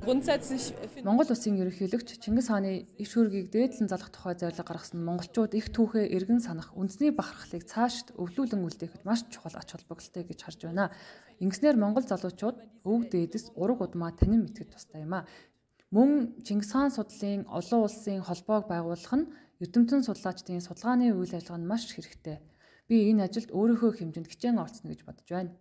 grundsätzlich Монгол улсын ерөнхийлөгч Чингис хааны иш хөргийг дээдлэн залах тухай зорилго гаргасан монголчууд их түүхээ эргэн санах, үндэсний бахархлыг цаашд өвлүүлэн үлдээхэд маш чухал ач холбогдолтой гэж харж байна. Ингэснээр монгол залуучууд өвөг дээдэс ураг удмаа танин мэтгэж тустай юм а. Мөн Чингис хаан судлалын олон улсын холбоог байгуулах нь эрдэмтэн судлаачдын судалгааны үйл ажиллагаа нь маш хэрэгтэй. Би энэ ажилд өөрийнхөө хэмжээнд хичээн орцно гэж бодож байна.